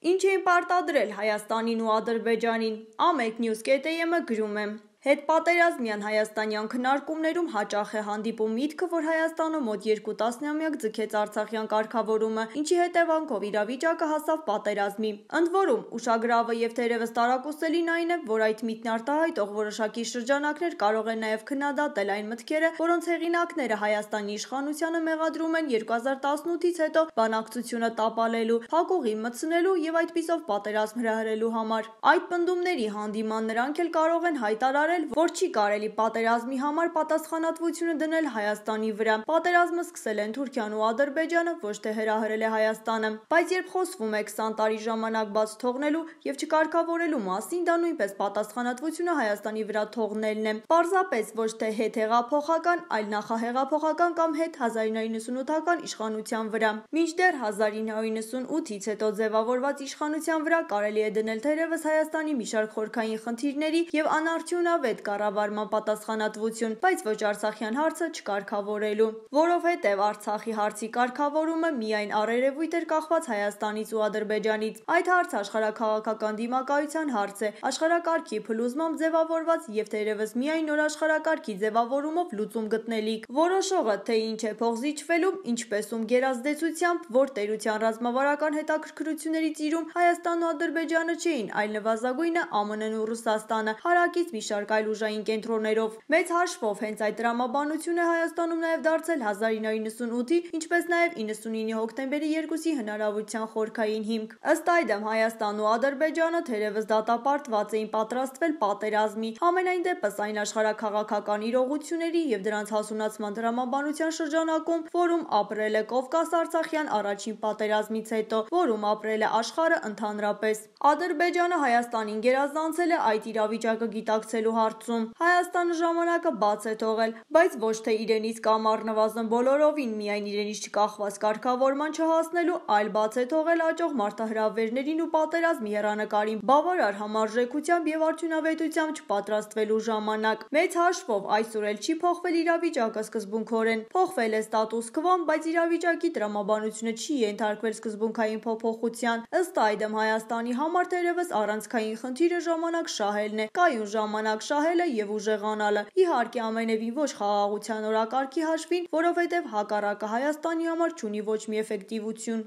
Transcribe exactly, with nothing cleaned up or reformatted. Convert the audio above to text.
Ինչ էին պարտադրել Հայաստանին ու Ադրբեջանին, Ամեկ նյուզ կետ է եմը գրում է. Հետպատերազմյան հայաստանյան քննարկումներում հաճախ է հանդիպում միտքը, որ Հայաստանը մոտ երկու տասնամյակ ձգեց արցախյան կարգավորումը, ինչի հետևանքով իրավիճակը հասավ պատերազմի։ Ընդ որում, ուշագրավը և թերևս տարակուսելին այն է, որ այդ միտքն արտահայտող որոշակի շրջանակներ կարող են նաև քննադատել այն մտքերը, որոնց հեղինակները Հայաստանի իշխանությանը մեղադրում են երկու հազար տասնութից հետո բանակցությունը տապալելու, փակուղի մտցնելու և այդպիսով պատերազմ հրահրելու համար։ Այդ պնդումների հանդիման նրանք էլ կարող են հայտարարել, որ չի կարելի պատերազմի համար պատասխանատվությունը դնել Հայաստանի վրա։ Պատերազմը սկսել են Թուրքիան ու Ադրբեջանը, ոչ թե հրահրել է Հայաստանը։ Բայց երբ խոսվում է քսան տարի ժամանակ բաց թողնելու և չկարգավորելու մասին, դա նույնպես պատասխանատվությունը Հայաստանի վրա թողնելն է։ Պարզապես ոչ թե հետհեղափոխական, այլ նախահեղափոխական կամ հետհազարինը հարյուր նվթական իշխանության վրա։ Մինչդեռ հազար ինը հարյուր նվթյոթից հետո ձևավորված իշխանության վրա կարելի է դնել թերևս Հայաստանի մի շարք խորքային խնդիրների և անարդյունավետ կառավարման պատասխանատվություն, բայց ոչ արցախյան հարցը չկարգավորելու։ Որովհետև Արցախի հարցի կարգավորումը միայն առերևույթ էր կախված Հայաստանից ու Ադրբեջանից։ Այդ հարցը աշխարհաքաղաքական դիմակայության հարց է, աշխարհակարգի փլուզմամբ ձևավորված և թերևս միայն նոր աշխարհակարգի ձևավորումով լուծում գտնելիք։ Որոշողը, թե ինչ է փող զիջվելու, ինչպես ում գերազդեցությամբ, որ տերության ռազմավարական հետաքրքրությունների ծիրում Հայաստանն ու Ադրբեջանը չէին, այլ նվազագույնը Ամն-ն ու Ռուսաստանը, հարակից մի շարք այլ ուժային կենտրոններով։ Մեծ հաշվով հենց այդ տրամաբանությունը Հայաստանում նաև դարձել հազար ինը հարյուր նվթյոթի, ինչպես նաև իննսունինի հոկտեմբերի երկուսի հնարավորության խորքային հիմք։ Ըստ այդմ Հայաստանն ու Ադրբեջանը թերևս դատապարտված էին պատրաստվել պատերազմի, համենայն դեպս այն աշխարհաքաղաքական իրողությունների և դրանց հասունացման տրամաբանության շրջանակում, որում ապրել է Կովկաս-արցախյան առաջին պատերազմից հետո, որում ապրել է աշխարհը ընդհանրապես։ Ադրբեջանը Հայաստանին գերազանցել է այդ իրավիճակը գիտակցելու հարցում։ Հայաստանը ժամանակը բաց է թողել, բայց ոչ թե իրենից կամ առնվազն բոլորովին միայն իրենից չկախված կարգավորման չհասնելու, այլ բաց է թողել աճող մարտահրավերներին ու պատերազմի հեռանկարին բավարար համարժեքությամբ և արդյունավետությամբ չպատրաստվելու ժամանակ։ Մեծ հաշվով այսօր էլ չի փոխվել իրավիճակը սկզբունքորեն։ Փոխվել է ստատուս քվոն, բայց իրավիճակի տրամաբանությունը չի ենթարկվել սկզբունքային փոփոխության։ Ըստ այդմ Հայաստանի համար թերևս առանցքային խնդիրը ժամանակ շահելն է, կայուն ժամանակ շահելը և ուժեղանալը։ Իհարկե ամենևին ոչ խաղաղության օրակարգի հաշվին, որովհետև հակառակը Հայաստանի համար չունի ոչ մի էֆեկտիվություն։